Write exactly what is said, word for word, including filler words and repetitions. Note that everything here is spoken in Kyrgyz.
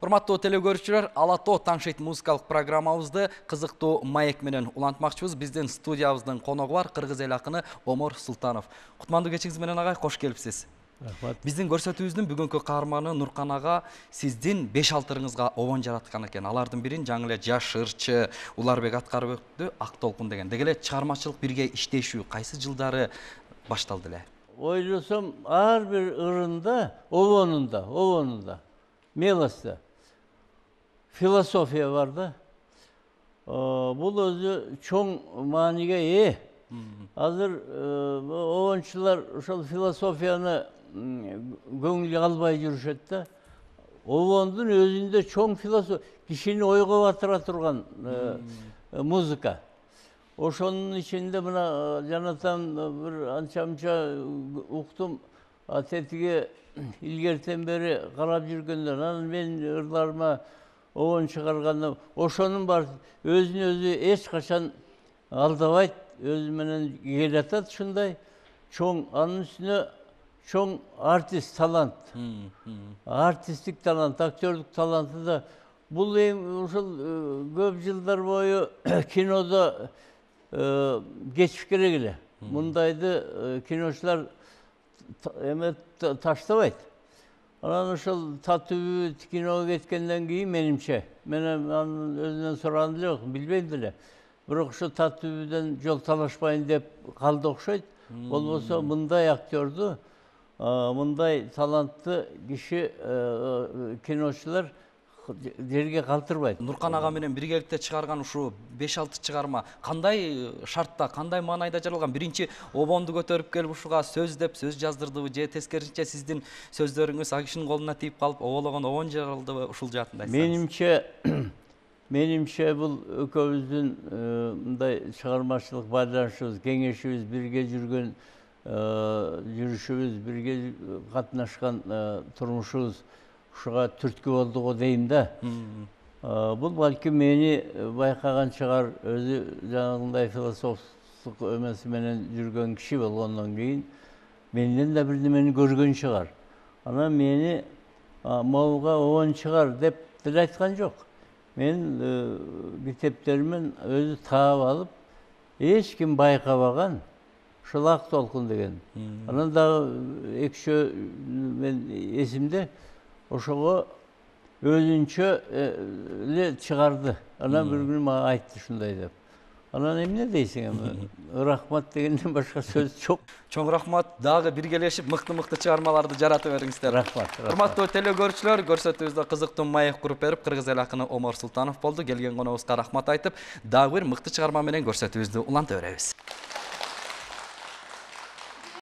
Урматтуу телекөрүүчүлөр, Ала тоо таңшейт музыкалык программабызды кызыктуу маек менен улантмакчыбыз. Биздин студиябыздын коногу бар кыргыз эл акыны Омор Султанов. Кутмандуу кечиңиз менен агай, кош келипсиз. Рахмат. Биздин көрсөтүүбүздүн бүгүнкү каарманы Нуркан ага сиздин беш алты ырыңызга обон жараткан экен. Алардын бирин жаңы эле Жаш ырчы Уларбек Аткарбековду Ак толкун деген. Деги эле чыгармачылык бирге иштешүү кайсы жылдары башталды эле? Ойлосом, ар бир ырында, обонунда, обонунда, мелоста философия бар да. Бул өзү чоң мааниге ээ. Азыр обончулар ошол философияны көңүлгө албай жүрүшөт да. Обондун өзүндө чоң философия, кишини ойго батыра турган музыка. Ошонун ичинде мына жанатан бир анча-мынча уктум, тетиги илгертен бери карап жүргөндөн, анан мен ырларыма обон чыгарганда, ошонун бар өзүн өзү эч качан алдабайт, өзү менен келатат ушундай чоң, анын үстүнө чоң артист талант. Артисттик талант, актерлук таланты да. Бул эми ушул көп жылдар бою кинодо кечип керек эле. Мындайды киночулар эме таштабайт. Анан ошол татуу киного кеткенден кийин менимче, мен анын өзүнөн сураган деле жок, билбейм деле. Бирок ошо татуудан жол талашпайын деп калды окшойт. Болбосо мындай актерду, мындай талантты киши киночулар жерге калтырбайт. Нуркан ага менен биргеликте чыгарган ушул беш алты чыгарма кандай шартта, кандай маанайда жаралган? Биринчи обонду көтөрүп келип ушуга сөз деп сөз жаздырдыбы же тескерисинче сиздин сөздөрүңүз а кишинин колуна тийип калып обологон обон жаралдыбы? Ушул жаатын айтсаңыз. Менимче менимче бул экөөбүздүн мындай чыгармачылык байланышыбыз, кеңешибиз, бирге жүргөн жүрүшүбүз, бирге катнашкан турмушубуз ушуга түрткү болду го дейм да. Бул балким мени байкаган чыгар, өзү жанагындай философтук эмеси менен жүргөн киши болгондон кийин менден да бирдемени көргөн чыгар. Анан мени могуга обон чыгар деп деле айткан жок. Мен китептеримен өзү таап алып, эч ким байкабаган ушул Ак толкун деген. Анан дагы экшөө мен эсимде ошого өзүнчө эле чыгарды. Анан бир күнү мага айтты ушундай деп. Анан эмне дейсиң эми? Рахмат дегенден башка сөз жок. Чоң рахмат. Дагы биргелешип мыкты-мыкты чыгармаларды жарата бериңиздер. Рахмат. Урматтуу телекөрүүчүлөр, көрсөтүүбүздө кызыктуу маек куруп берип, кыргыз эл акыны Омор Султанов болду. Келген коногубузга рахмат айтып, дагы бир мыкты чыгарма менен көрсөтүүбүздү уланта беребиз.